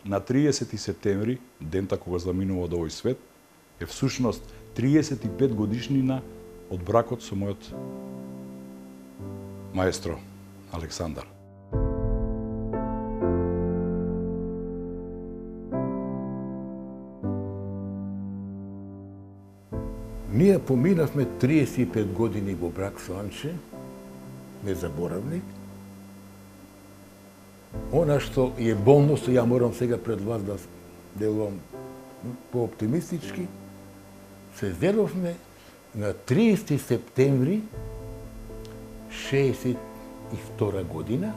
на 30 септември, дента кога заминува од овој свет, е всушност 35 годишнина од бракот со мојот маестро Александар. Ние поминавме 35 години во брак со Анче, незаборавни. Она што е болно, што ја морам сега пред вас да делувам по-оптимистички, се зедовме на 30 септември 62 година.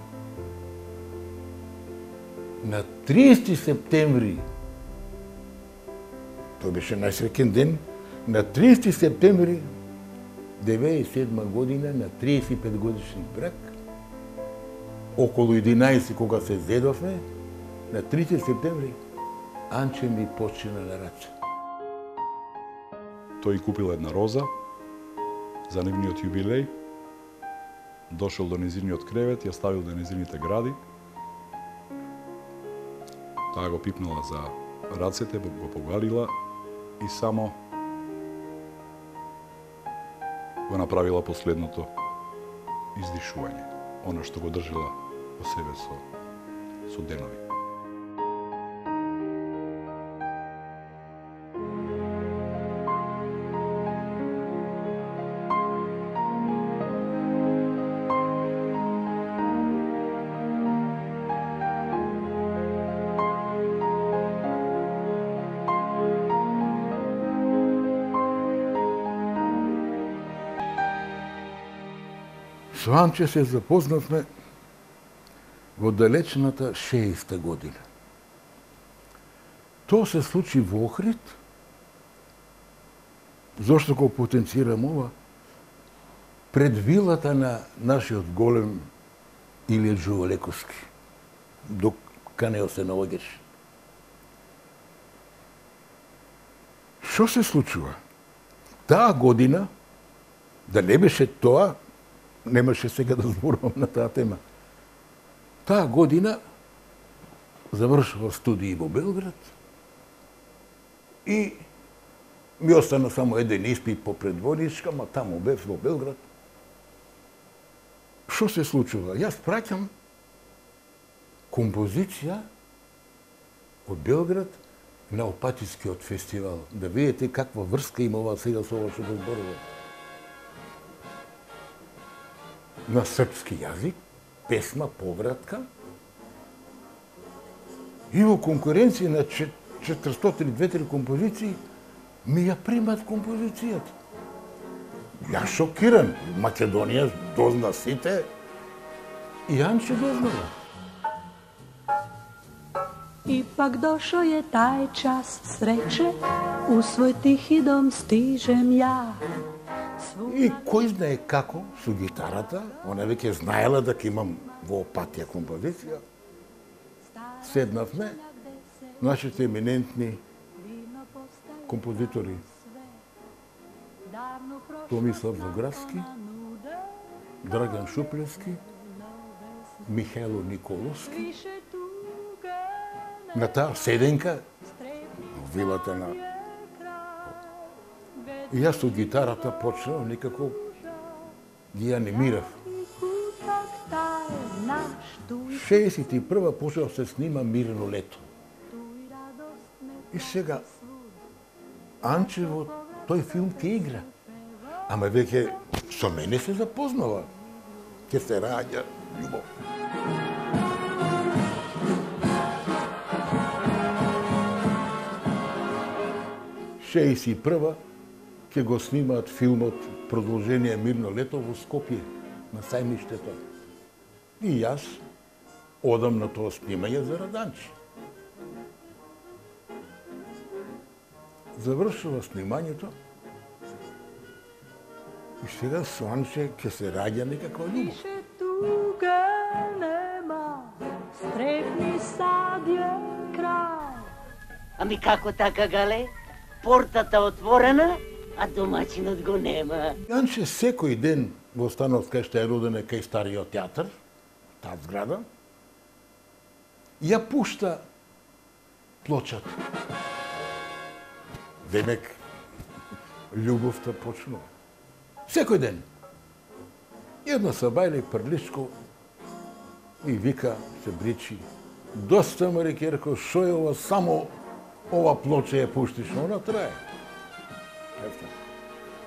На 30 септември, тој беше најсреќен ден, на 30 септември 97 година, на 35 годишни брак, околу 11 кога се зедовме, на 30 септември Анче ми почина на раче. Тој купил една роза за нивниот јубилеј, дошол до незиниот кревет, ја ставил на незините гради, таа го пипнала за рацете, го погалила и само го направила последното издишување, она што го држила во себе со денови. Со Анче се запознавме во далечната 60-та година. Тоа се случи во Охрид. Зошто го потенцирам ова? Пред вилата на нашиот голем Илија Джувалековски, до канео се наоѓаш. Што се случува? Таа година, да не беше тоа, немаше сега да зборувам на таа тема. Таа година завршува студии во Белград и ми остана само еден испит по предводичка, ма таму бев во Белград. Што се случува? Јас праќам композиција од Белград на Опатискиот фестивал. Да видите каква врска има ова сега со ова што го зборувам. На српски јазик, песма, повратка, и во конкуренција на 400-200 композиции, ми ја примат композицијата. Ја шокиран. Македонија дозна сите, и Анче дознала. Ipak došao je taj čas sreće, u svoj tihi dom stižem ja. И кој знае како, со гитарата, она веќе знаела дека имам во Опатија композиција, седнавме, нашите еминентни композитори Томислав Заградски, Драган Шупленски, Михајло Николовски, на таа седенка, во вилата на... И јас со гитарата почнав, некако ги анимирав. 61-а почнав се снима Мирно лето. И сега Анче во тој филм ќе игра. Ама веќе со мене се запознава. Ќе се раѓа љубов. Шеесет ќе го снимаат филмот Продолжение Мирно лето во Скопје, на сајмиштето. И јас одам на тоа снимање за Раданче. Завршува снимањето и сега со Анче ќе се раѓа некаква љубов. Više tuge nema, strepni sad je kraj. Ами како така, Гале? Портата отворена, а домаќинот го нема. Анче секој ден во станот кај што е роден кај Стариот театар, таа зграда, ја пушта плочата. Демек, љубовта почнува. Секој ден. Една сабајле Прличко и вика, се бричи. Доста ме реке, рекол, шо е ова, само ова плоча ја пуштиш, она трае.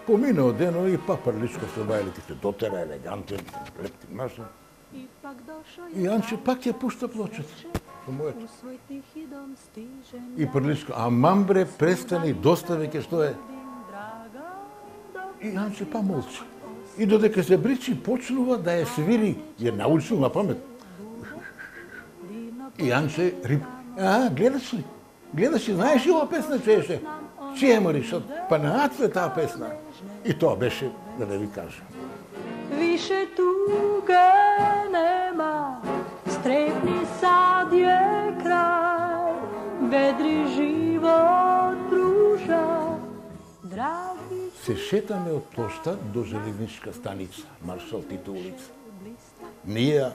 Поминao дено и па Прличко сабајле ти се дотера, елегантен, лепти машин. И Анче пак ја пушта плочата. И Прличко, амам бре, престани, доста веќе што е. И Анче па молчи. И додека се бричи, почнува да ја свири, ја научил на памет. И Анче рип, гледаш ли? Гледаш ли, знаеш ли ова песна чуеше? Чија мариш, па на Ацо е таа песна. И тоа беше, да не ви кажа. Više tuge nema, strepni sad je kraj, vedri život pruža, dragi... Се шетаме од плошта до железничка станица, Маршал Тито улица. Ние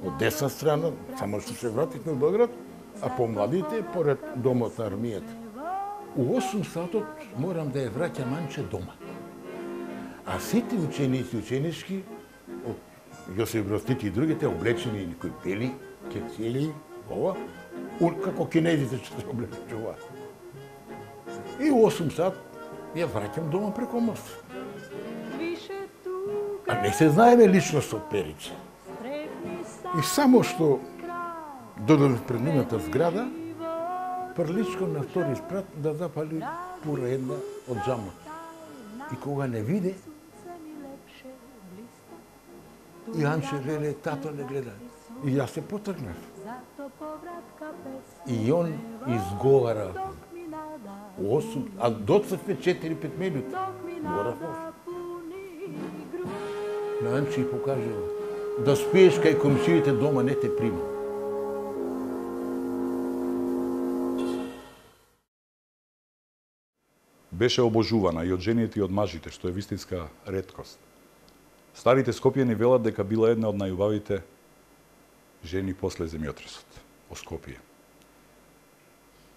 од десна страна, само што се вративме во Белград, а помладите поред домот на армијата. У 8 сатот морам да ја враќам Анче дома. А сите ученици, ученички, од Јосиф Брз Тито и другите, облечени некои бели, кецели, ова, како кинезите што се облечува. И у 8 сат ја враќам дома преко мост. А не се знаеме личност од Перица. И само што додоле пред нивната зграда, Прличко на втори спрат да запали пура една од джамот. И кога не виде, и Анче веле, тато не гледа. И јас се потргнав. И он изговара 8, а доцве 4-5 минути. Морафов. На Анче и покажува, да спиеш кај комшиите дома не те прима. Беше обожувана и од жените и од мажите, што е вистинска реткост. Старите Скопјани велат дека била една од најубавите жени после земјотресот во Скопје.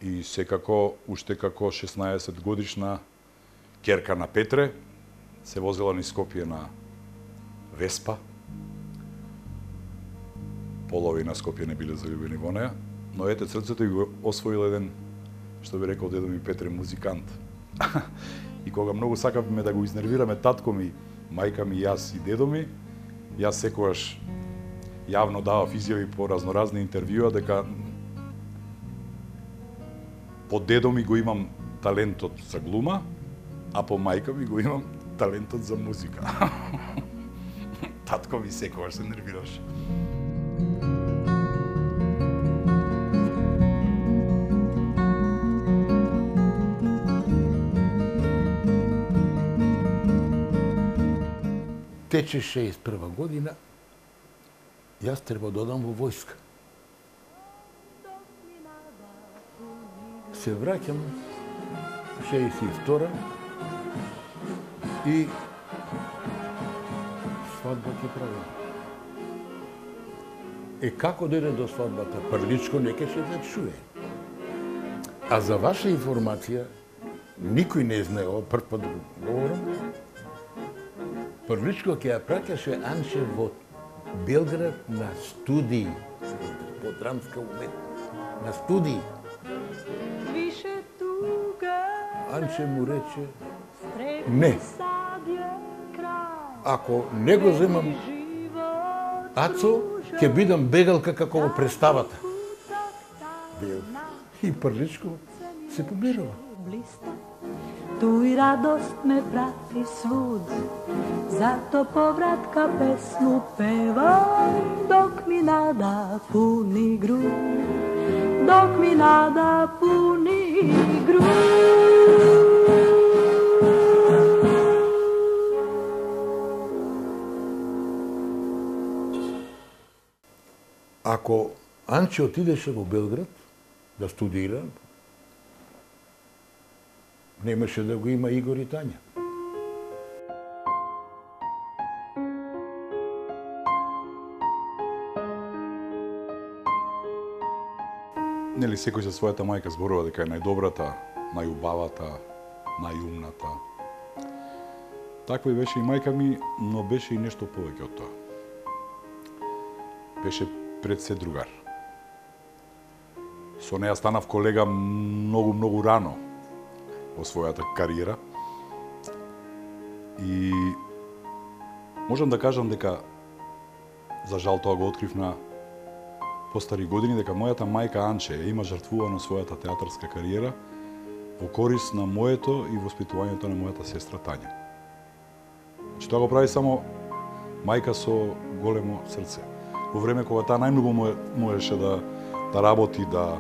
И секако, уште како 16 годишна ќерка на Петре, се возела низ Скопје на Веспа. Половина Скопје не биле заљубени во неја, но ете срцето и го освоил еден, што би рекол дедо ми Петре, музикант. И кога многу сакавме да го изнервираме татко ми, мајка ми, јас и дедо ми, јас секогаш јавно давав изјави по разноразни интервјуа дека по дедо ми го имам талентот за глума, а по мајка ми го имам талентот за музика. Татко ми секогаш се нервираше. Тече 61 година, јас треба да одам во војска. Се враќам 62 и свадба ќе правим. Како дојде до свадбата? Прличко не ќе се да чуе. А за ваша информација, никој не знае, прв пат го говорам, Прличко ќе ја праќаше Анче во Белград на студии, по драмска уметност, на студии. Анче му рече, не, ако не го земам Ацо, ќе бидам бегалка како во представата. И Прличко се помирува. Tu i radost me prati svud, zato povratka pesmu pevam, dok mi nada puni grud, dok mi nada puni grud. Ако Анче отидеше во Белград да студира, немаше да го има Игор и Тања. Нели секој за својата мајка зборува дека е најдобрата, најубавата, најумната. Таква и беше и мајка ми, но беше и нешто повеќе од тоа. Беше пред се другар. Со неја станав колега многу рано во својата кариера. И можам да кажам дека, за жал тоа го открив на постари години, дека мојата мајка Анче има жртвувано својата театарска кариера во корис на моето и воспитувањето на мојата сестра Тања. Значи, тоа го прави само мајка со големо срце. Во време кога таа најмногу можеше да работи, да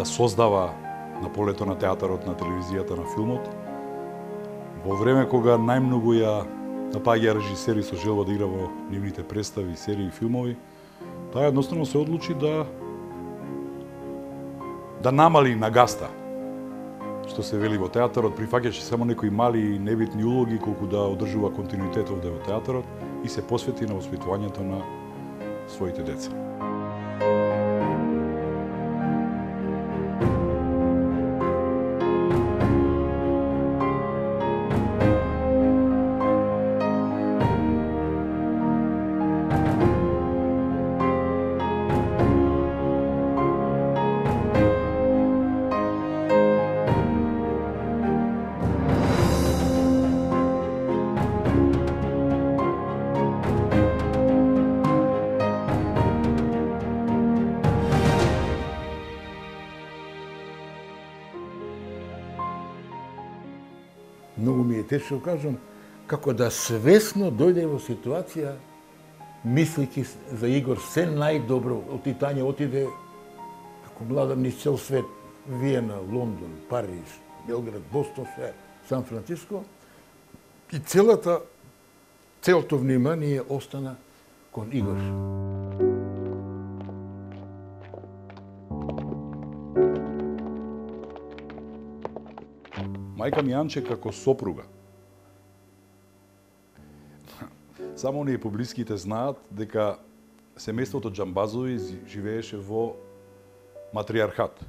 создава на полето на театарот, на телевизијата, на филмот, во време кога најмногу ја напаѓа режисери со желба да игра во нивните представи, серии и филмови, таа едноставно се одлучи да намали на гаста. Што се вели во театарот, прифаќаше само некои мали и небитни улоги колку да одржува континуитет овде во театарот и се посвети на воспитувањето на своите деца. Многу ми е тешко кажам, како да свесно дојде во ситуација, мислејќи за Игор се најдобро, од Тања отиде како млада низ цел свет, Виена, Лондон, Париж, Белград, Бостон, Сан Франциско, и целото внимание остана кон Игор. Мајка ми Анче како сопруга. Само оние поблиските знаат дека семејството Џамбазови живееше во матриархат.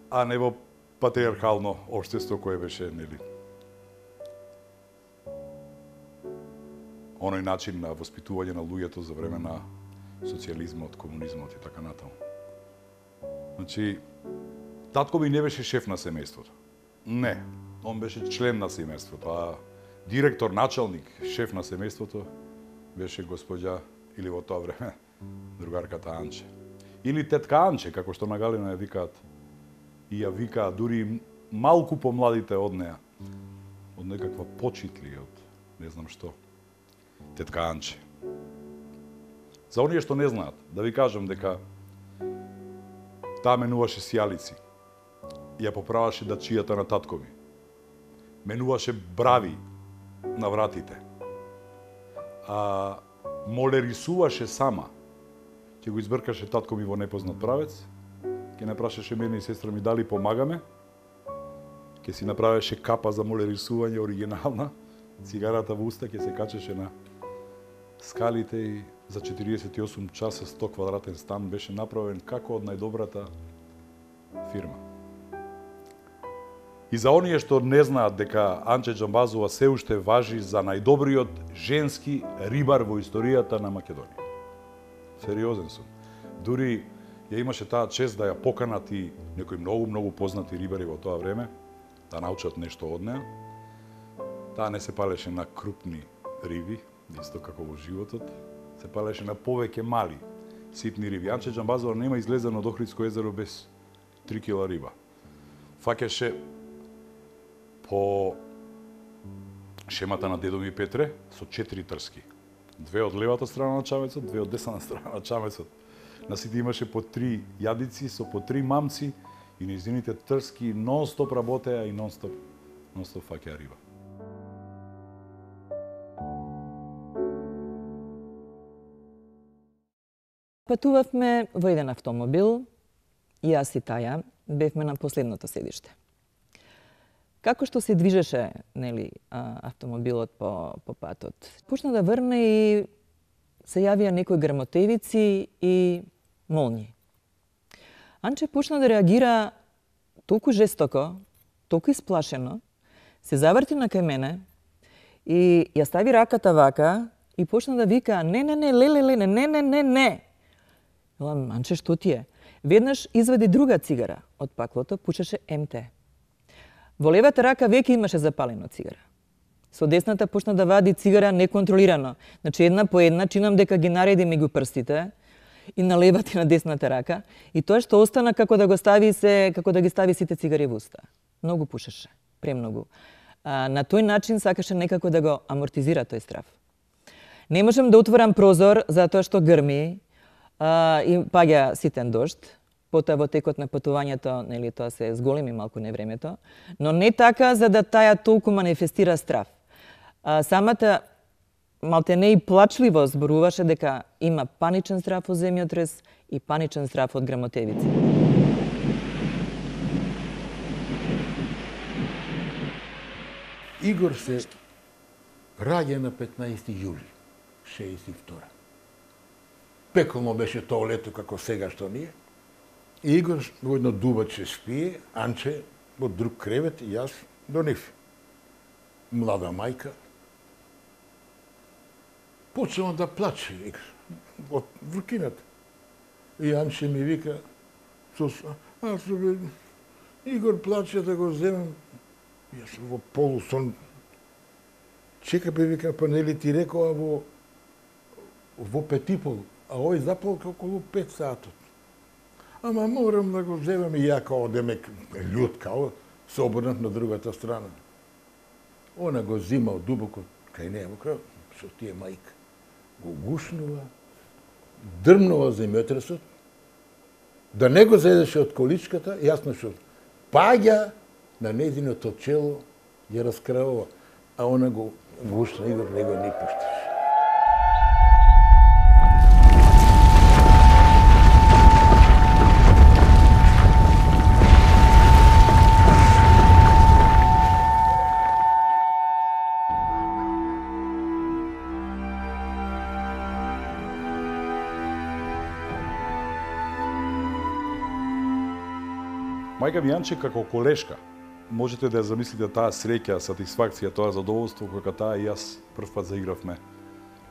А не во патриархално општество кое беше, нели, оној начин на воспитување на луѓето за време на социјализмот, комунизмот и така натаму. Значи, татко ми не беше шеф на семејството. Не, он беше член на семејството, а директор, началник, шеф на семејството беше госпоѓа, или во тоа време, другарката Анче. Или тетка Анче, како што на Галина ја викаат. И ја викаат дури малку помладите од неа. Од некаква почитли, од не знам што. Тетка Анче. За оние што не знаат, да ви кажам дека таа менуваше сијалици. Ја поправаше дачијата на татко ми. Менуваше брави на вратите. Молерисуваше сама. Ќе го избркаше татко ми во непознат правец, ќе не прашаше мене и сестра ми дали помагаме, ќе си направеше капа за молерисување оригинална, цигарата во уста ќе се качеше на скалите и за 48 часа 100 квадратен стан беше направен како од најдобрата фирма. И за оние што не знаат дека Анче Џамбазова се уште важи за најдобриот женски рибар во историјата на Македонија. Сериозен сум. Дури ја имаше таа чест да ја поканат и некои многу познати рибари во тоа време, да научат нешто од неа. Таа не се палеше на крупни риби, исто како во животот, се палеше на повеќе мали, ситни риби. Анче Џамбазова нема излезен од Охридско езеро без 3 кила риба. Фаќаше по шемата на дедо ми Петре со 4 трски. 2 од левата страна на чамецот, 2 од десната страна на чамецот. На сите имаше по 3 јадици со по 3 мамци и нејзините трски нон-стоп работеа и нон-стоп фаќаа риба. Патувавме во еден автомобил, и јас и Таја бевме на последното седиште. Како што се движеше, нели, автомобилот по патот, почна да врне и се јавија некои грмотевици и молњи. Анче почна да реагира толку жестоко, толку исплашено, се заврти на кај мене и ја стави раката вака и почна да вика не, леле, не. Велам, Анче, што ти е? Веднаш извади друга цигара од паклото, пушеше МТ. Во левата рака веќе имаше запалено цигара. Со десната почна да вади цигара неконтролирано. Значи една по една, чинам дека ги нареди меѓу прстите и на левата и на десната рака, и тоа што остана како да ги стави сите цигари во уста. Многу пушеше, премногу. На тој начин сакаше некако да го амортизира тој страв. Не можам да отворам прозор затоа што грми и паѓа ситен дожд. Потоа во текот на патувањето, нели, тоа се зголеми малку невремето, но не така за да таја толку манифестира страв. Самата малтене и плачливо зборуваше дека има паничен страв од земјотрес и паничен страв од грмотевици. Игор се раѓа на 15 јули 62. Пеколно беше тоа лето како сега што ние. И Игор во едно дубаче спие, Анче во друг кревет и јас до нив. Млада мајка. Почнува да плаче од вркината. И Анче ми вика, Игор плаче да го земам. Јас во полусон. Чека бе, вика, па нели ти рекоа во 5:30, а овој запал околу 5 сатот. Ама морам да го земам и ја као демек људ као се обрнав на другата страна. Она го зимал дубоко кај неја во крај, што тие мајка. Го гушнува, дрмнува земјотресот, да не го зедеше од количката, јасно што паѓа на незиното чело, ја раскравува, а она го гушна и го него не пушташе. Мајка ми Јанче како колешка, можете да ја замислите таа среќа, сатисфакција, тоа задоволство кога таа и јас прв пат заигравме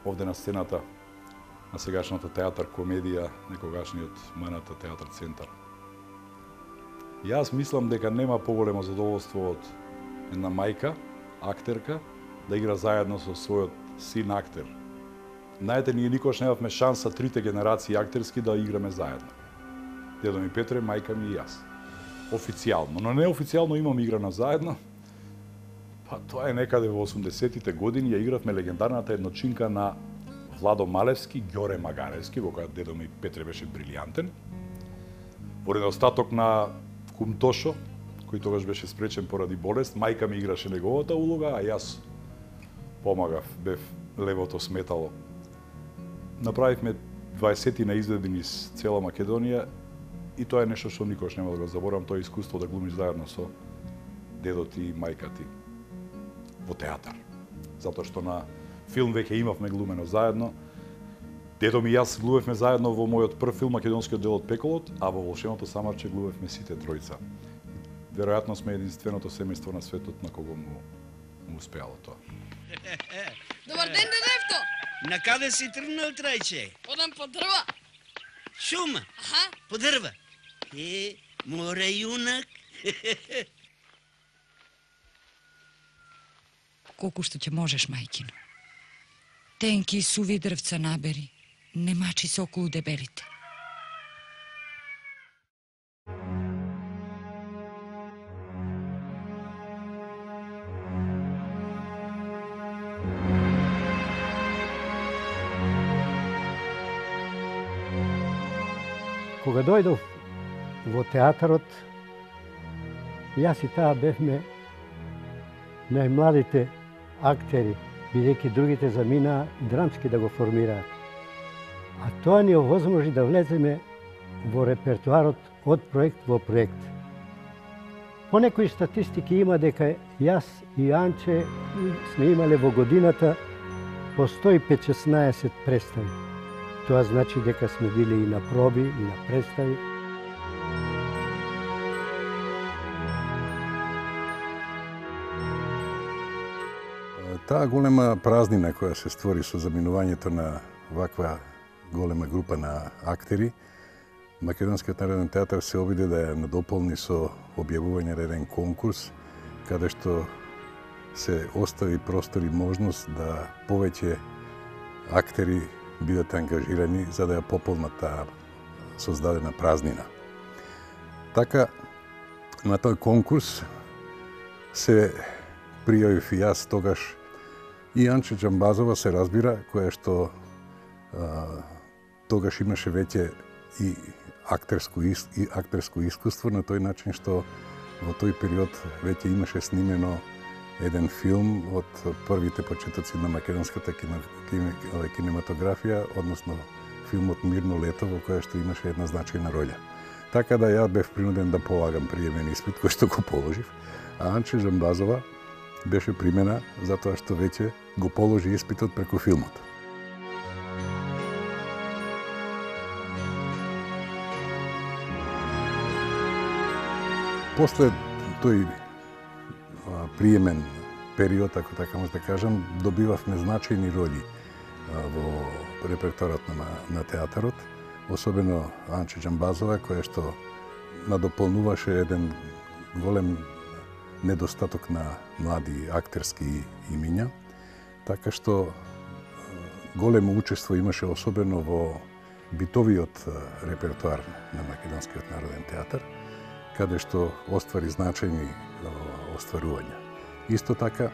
овде на сцената на сегашната театар комедија, некогашниот Маната театар центар. Јас мислам дека нема поголемо задоволство од една мајка, актерка, да игра заедно со својот син актер. Знаете, ние никош немавме шанса трите генерации актерски да играме заедно. Дедо ми Петре, мајка ми и јас. Официјално, но неофицијално имам играна заедно. Па тоа е некаде во 80-тите години, ја игравме легендарната едночинка на Владо Малевски, Ѓоре Магаревски, во која дедо ми Петре беше брилијантен. Во недостаток на кум Тошо, кој тогаш беше спречен поради болест, мајка ми играше неговата улога, а јас помагав, бев левото сметало. Направивме 20 на изведби низ цела Македонија и тоа е нешто што никош нема да го заборам, тоа е искуство да глумиш заедно со дедот и мајка ти во театар. Затоа што на филм веќе имавме глумено заедно. Дедо ми и јас глумевме заедно во мојот прв филм македонскиот дел од Пеколот, а во Волшебното самарче глумевме сите тројца. Веројатно сме единственото семејство на светот на кого му успеало тоа. Добар ден, дедевто! На каде си тргнал, трајче? Одам по дрва. Шума? Аха. По дрва? Море јунак. Колку што ќе можеш, мајкино. Тенки и суви дрвца набери, не мачи се околу дебелите. Кога дојдов во театарот, јас и таа бевме најмладите актери, бидејќи другите заминаа драмски да го формираат. А тоа ни овозможи да влеземе во репертуарот од проект во проект. По некои статистики има дека јас и Анче сме имале во годината по 115-16 представи. тоа значи дека сме били и на проби, и на представи. Таа голема празнина која се створи со заминувањето на ваква голема група на актери, Македонскиот народен театар се обиде да ја надополни со објавување на еден конкурс, каде што се остави простор и можност да повеќе актери бидат ангажирани за да ја пополнат таа создадена празнина. Така, на тој конкурс се пријавив и јас тогаш и Анче Џамбазова, се разбира, која што тогаш имаше веќе и актерско искуство на тој начин што во тој период веќе имаше снимено еден филм од првите почетоци на македонската кинематографија, односно филмот Мирно лето, во која што имаше една значајна роља. Така да ја бев принуден да полагам приемен испит, кој што го положив, а Анче Џамбазова беше примена затоа што веќе го положи испитот преку филмот. После тој приемен период, ако така може да кажам, добивавме значајни роли во репертоарот на театарот, особено Анче Џамбазова, која што надополнуваше еден голем недостаток на млади актерски имиња, така што големо учество имаше особено во битовиот репертоар на Македонскиот народен театар, каде што оствари значајни остварувања. Исто така,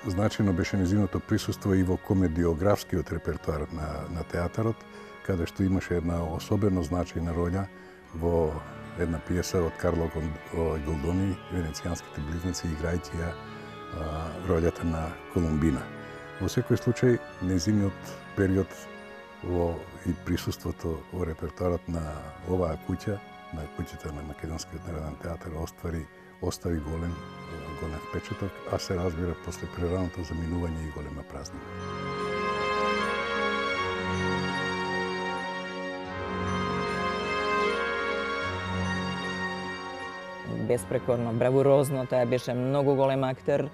значајно беше нејзиното присуство и во комедиографскиот репертоар на театарот, каде што имаше една особено значајна роља во една пиеса од Карло Голдони, Венецијанските близнаци, играјќи ја рољата на Колумбина. Во секој случај, нејзиниот период и присуството во репертоарот на оваа куќа, на куќата на Македонскиот народен театар, остави голем впечаток, а се разбира после прераното заминување и голема празнина. Беспрекорно, бравурозно, таа беше многу голем актер,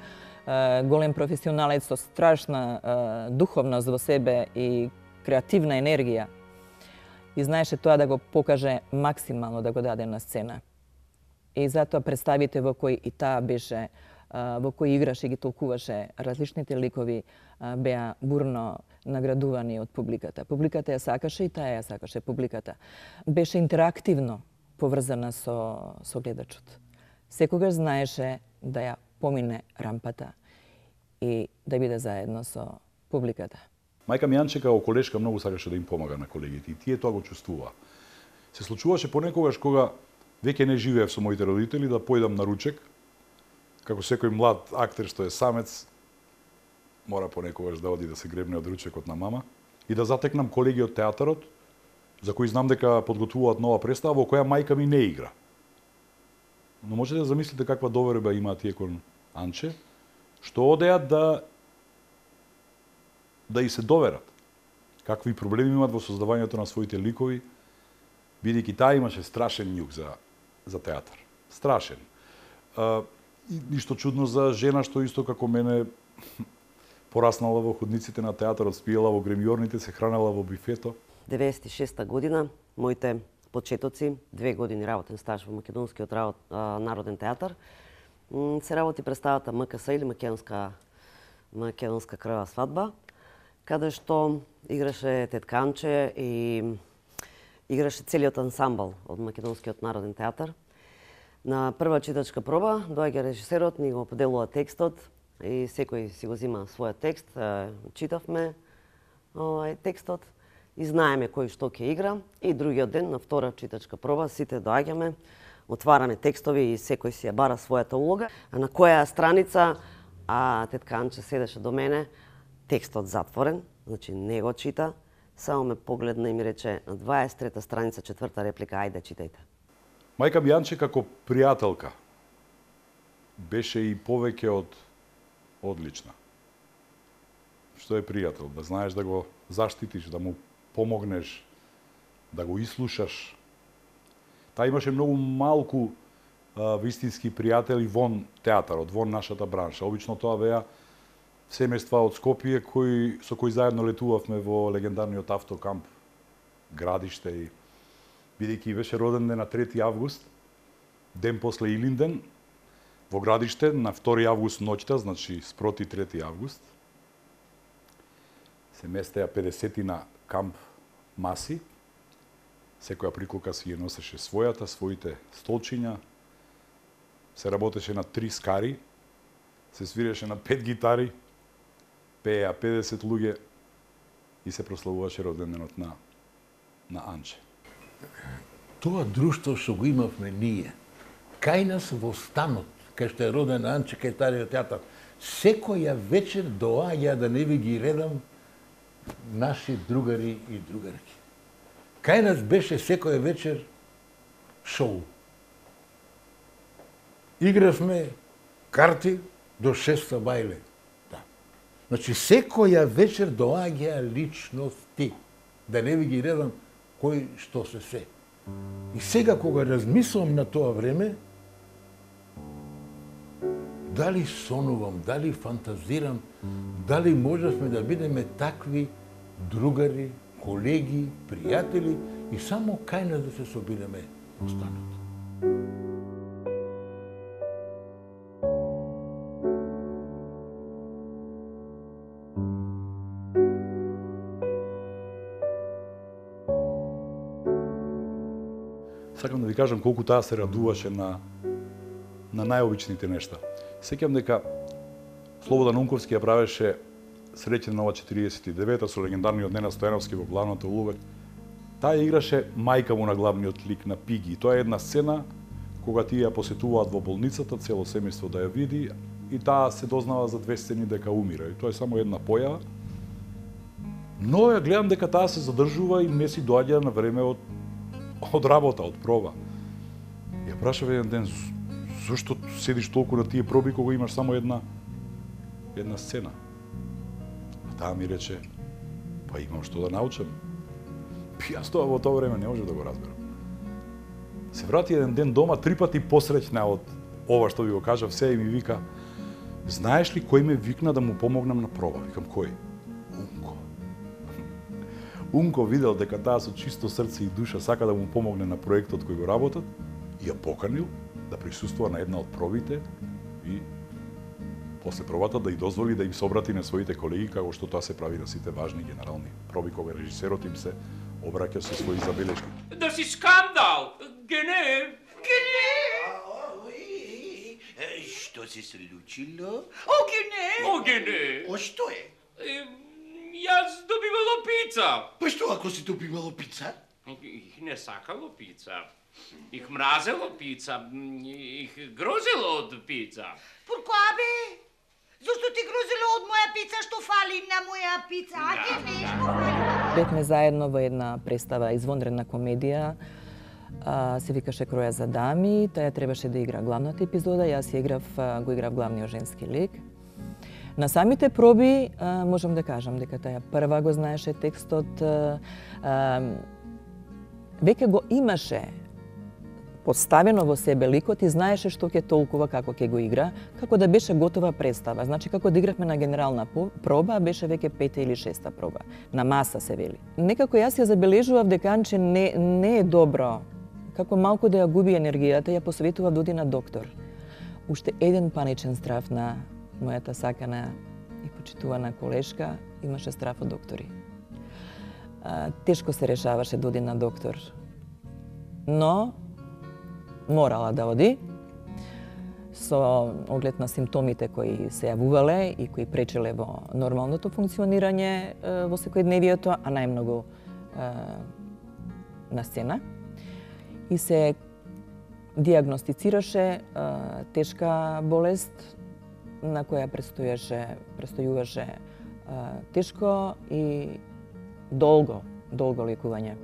голем професионалец со страшна духовност во себе и креативна енергија. И знаеше тоа да го покаже максимално, да го даде на сцена. И затоа представите во кои и таа беше, во кои играше и ги толкуваше различните ликови, беа бурно наградувани од публиката. Публиката ја сакаше и таа ја сакаше публиката. Беше интерактивно поврзана со гледачот. Секогаш знаеше да ја помине рампата и да биде заедно со публиката. Мајка ми Анче како колешка многу сакаше да им помага на колегите и тие тоа го чувствуваа. Се случуваше понекогаш кога веќе не живеев со моите родители да појдам на ручек, како секој млад актер што е самец, мора понекогаш да оди да се гребне од ручекот на мама и да затекнам колеги од театарот за кои знам дека подготвуваат нова представа во која мајка ми не игра. Но можете да замислите каква доверба имаат тие кон Анче, што одеат да и се доверат. Какви проблеми имаат во создавањето на своите ликови, бидејќи таа имаше страшен њук за театар. Страшен. И ништо чудно за жена што исто како мене пораснала во ходниците на театарот, спиела во гремјорните, се хранела во бифето. 96-та година, моите почетоци, 2 години работен стаж во Македонскиот народен театар, се работи представата МКС или Македонска крвава свадба, каде што играше Тетка Анче и играше целиот ансамбл од Македонскиот народен театар. На прва читачка проба доаѓа режисерот, ни го поделува текстот и секој си го зима својот текст, читавме текстот и знаеме кој што ќе игра, и другиот ден на втора читачка проба сите доаѓаме, отвараме текстови и секој си ја бара својата улога, а на која страница Тетка Анче седеше до мене, текстот затворен, значи не го чита, само ме погледна и ми рече на 23-та страница, 4-та реплика, ајде читајте. Мајка ми Анче како пријателка беше и повеќе од одлична. што е пријател, да знаеш да го заштитиш, да му помогнеш, да го ислушаш. Таа имаше многу малку вистински пријатели вон театарот, вон нашата бранша. Обично тоа беа семејства од Скопје со кои заедно летувавме во легендарниот автокамп Градиште и бидејќи беше роден ден на 3 август, ден после Илинден, во Градиште на 2 август ноќта, значи спроти 3 август, се местеа 50 камп маси. Секоја приколка си ја носеше своите столчиња, се работеше на 3 скари, се свиреше на 5 гитари, пееа 50 луѓе и се прославуваше роденденот на Анче. Тоа друштво што го имавме ние, кај нас во станот, кај што е роден Анче, кај Стариот театар, секоја вечер доаѓа, да не ви ги редам, наши другари и другарки. Кај нас беше секоја вечер шоу. Игравме карти до 6 бајле. Да. Значи, секоја вечер доаѓа личности. Да не ви ги редам кој што се. И сега, кога размислам на тоа време, дали сонувам, дали фантазирам, дали можевме да бидеме такви другари, колеги, пријатели и само кај нас да се собираме во станот. Сакам да ви кажам колку таа се радуваше на најобичните нешта. Сеќам дека Слободан Унковски ја правеше Среќен нова 49-та со легендарниот Ненад Стојановски во главната улога. Таа играше мајка му на главниот лик на Пиги. Тоа е една сцена кога тие ја посетуваат во болницата, цело семејство да ја види, и таа се дознава за 2 сцени дека умира. И тоа е само една појава. Но ја гледам дека таа се задржува и не си доаѓа на време од работа, од проба. Ја прашав еден ден, зашто седиш толку на тие проби кога имаш само една сцена? А таа ми рече, па имам што да научам. Јас тоа во тоа време не можев да го разберам. Се врати еден ден дома, 3 пати посреќна од ова што ви го кажав, се и ми вика, знаеш ли кој ме викна да му помогнам на проба? Викам, кој? Унко. Унко видел дека таа со чисто срце и душа сака да му помогне на проектот кој го работат и ја поканил да присуствува на една од пробите и после пробата да ја дозволи да им се обрати на своите колеги, како што тоа се прави на сите важни генерални проби кога режисерот им се обраќа со своји забелешки. Да си скандал! Гене! Што се случило? Гене! Што е? Јас добивало пица. Па што ако си добивало пица? Их не сакало пица. Их мразело пица. Их грозело од пица. Поркоа бе? Зошто ти грозело од моја пица, што фали на моја пица? Бевме заедно во една представа, извонредна комедија, се викаше Кроја за дами, таја требаше да игра главната епизода, јас го играв главниот женски лик. На самите проби можам да кажам дека таја прва го знаеше текстот, веќе го имаше поставено во себе ликот и знаеше што ќе толкува како ќе го игра, како да беше готова представа. Значи, како да игравме на генерална проба, беше веќе 5-та или 6-та проба. На маса се вели. Некако јас ја забележував дека Анче не е добро. Како малку да ја губи енергијата, ја посоветував да оди на доктор. Уште еден паничен страв на мојата сакана и почитувана колешка имаше страв од доктори. Тешко се решаваше да оди на доктор. Но морала да оди, со оглед на симптомите кои се јавувале и кои пречеле во нормалното функционирање во секојдневието, а најмногу на сцена. И се диагностицираше тешка болест на која престојуваше тешко и долго лекување.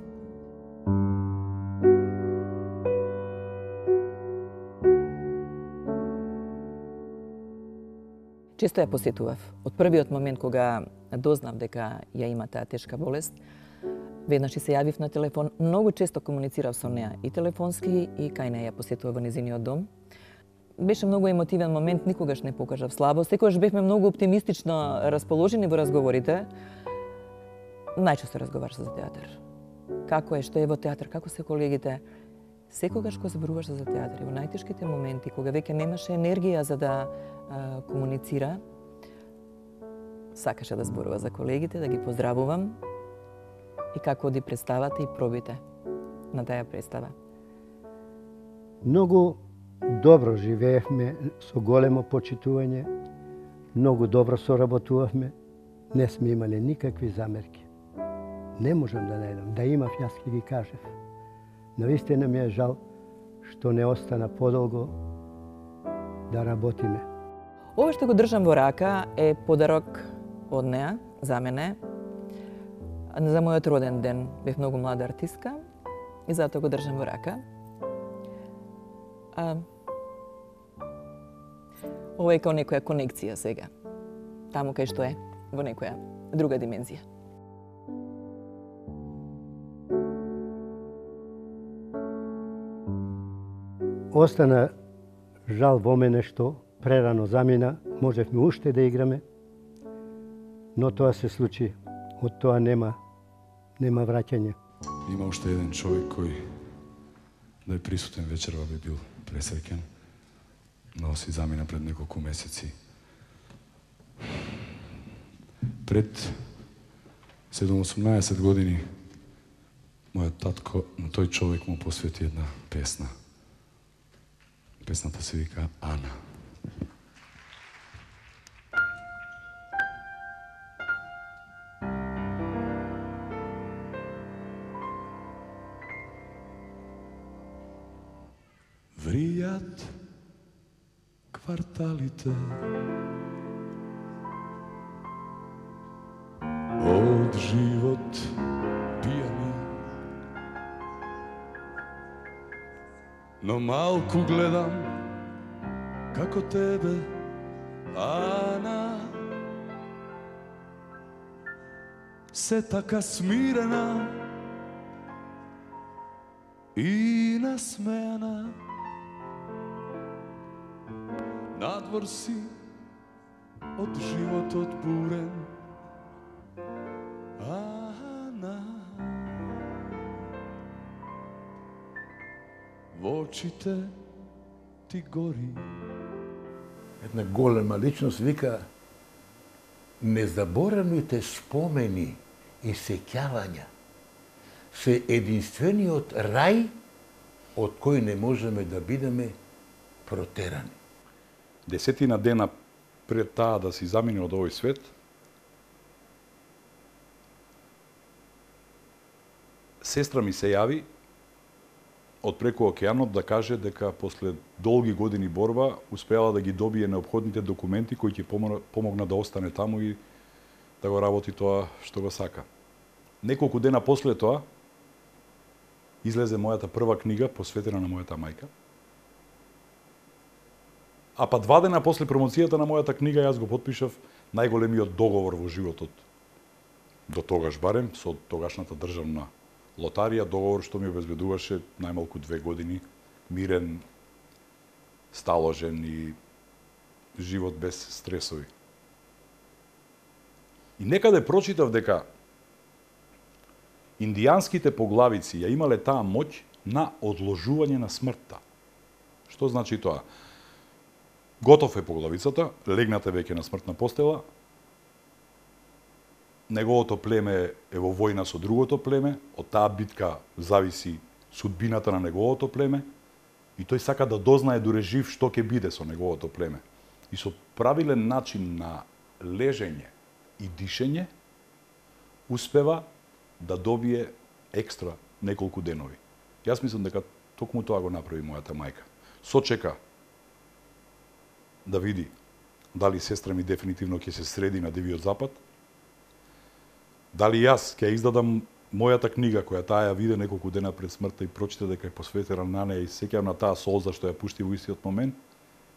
често ја посетував. Од првиот момент кога дознав дека ја има таа тешка болест, веднаш и се јавив на телефон, многу често комуницирав со неа и телефонски и кај неа ја посетував во незиниот дом. Беше многу емотивен момент, никогаш не покажав слабост, секогаш бевме многу оптимистично расположени во разговорите. Најчесто разговараш за театар. Како е, што е во театар, како се колегите. Секогаш кога зборуваш за театар и во најтешките моменти, кога веќе немаше енергија за да комуницира, сакаше да зборува за колегите, да ги поздравувам и како оди представата и пробите на таа представа. Многу добро живеевме со големо почитување, многу добро соработувавме, не сме имале никакви замерки. Не можам да најдам, да имав, јас ќе ги кажев. Навистина ми е жал што не остана подолго да работиме. Ова што го држам во рака е подарок од неа, за мене, за мојот роден ден. Бев многу млада артистка и затоа го држам во рака. Ова е као некоја конекција сега. Таму кај што е, во некоја друга димензија. Остана жал во мене што прерано замина, можевме уште да играме, но тоа се случи. Од тоа нема враќање. Има уште еден човек кој да е присутен вечерва би бил пресреќен, но си замина пред неколку месеци. Пред 18 години мојот татко на тој човек му посвети една песна. Песната се вика Ана. Вријат кварталите од живот пијани, но малку гледам како тебе, Ана, се така смирена и насмеана. Надвор си од животот бурен, Ана, во очите ти гори. Една голема личност вика: незаборавните спомени и сеќавања се единствениот рај од кој не можеме да бидеме протерани. 10 дена пред таа да си замине од овој свет, сестра ми се јави од преку океанот да каже дека после долги години борба успеала да ги добие неопходните документи кои ќе помогна да остане таму и да го работи тоа што го сака. Неколку дена после тоа излезе мојата прва книга посветена на мојата мајка. А па 2 дена после промоцијата на мојата книга јас го потпишав најголемиот договор во животот. До тогаш барем со тогашната државна лотарија, договор што ми обезбедуваше најмалку 2 години мирен, сталожен и живот без стресови. И некаде прочитав дека индијанските поглавици ја имале таа моќ на одложување на смртта. Што значи тоа? Готов е поглавицата, легнате веќе на смртна постела, неговото племе е во војна со другото племе, од таа битка зависи судбината на неговото племе и тој сака да дознае дуре жив што ќе биде со неговото племе. И со правилен начин на лежење и дишење успева да добие екстра неколку денови. Јас мислам дека токму тоа го направи мојата мајка. Сочека да види дали сестра ми дефинитивно ќе се среди на Дивиот Запад, дали јас ќе издадам мојата книга, која таа ја виде неколку дена пред смртта и прочита дека е посветена на неа и сеќавам на таа солза што ја пушти во истиот момент,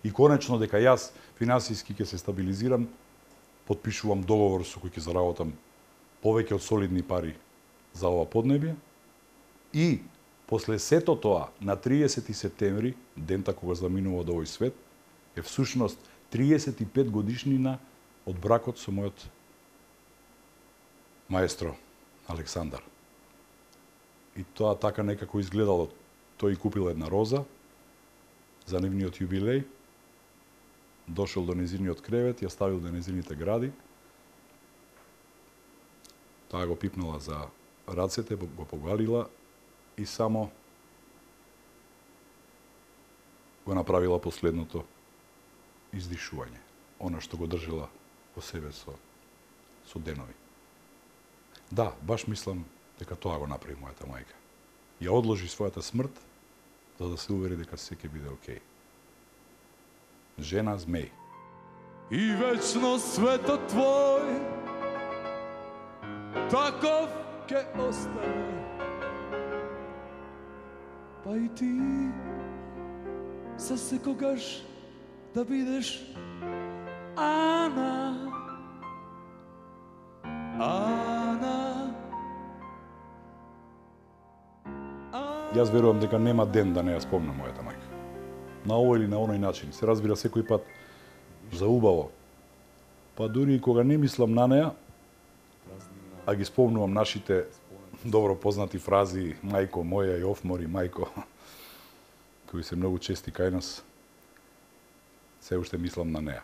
И конечно дека јас финансиски ќе се стабилизирам, потпишувам договор со кој ќе заработам повеќе од солидни пари за ова поднебје. И после сето тоа, на 30 септември, дента кога заминува од овој свет, е всушност 35 годишнина од бракот со мојот маестро Александар. И тоа така некако изгледало. Тој купил една роза за нивниот јубилеј, дошол до незиниот кревет, ја ставил до незините гради, таа го пипнала за рацете, го погалила и само го направила последното издишување, она што го држила по себе со денови. Да, баш мислам дека тоа го направи мојата мајка. Ја одложи својата смрт за да се увери дека се ќе биде окей. Жена змеј. И вечно светот твој таков ќе остане. Па и ти за секогаш да бидеш Ана. Јас верувам дека нема ден да не ја спомнам мојата мајка. На овој или на оној начин. Се разбира секој пат за убаво. Па дури и кога не мислам на неа, а ги спомнувам нашите добро познати фрази мајко моја и офмори мајко, кои се многу чести кај нас, се уште мислам на неа.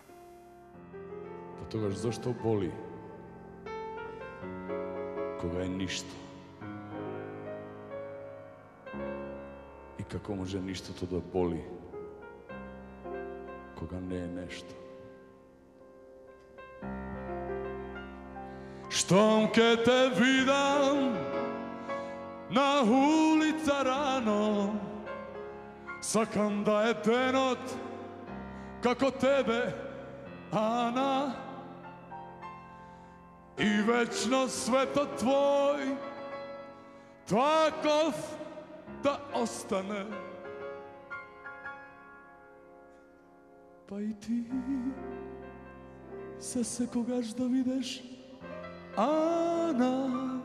Па тогаш зошто боли? Кога е ништо. И како може ништото да боли кога не е нешто? Штом ке те видам на улица рано, сакам да е денот како тебе, Ана, и вечно светот твој таков да остане. Па и ти се секогаш да видиш Ана.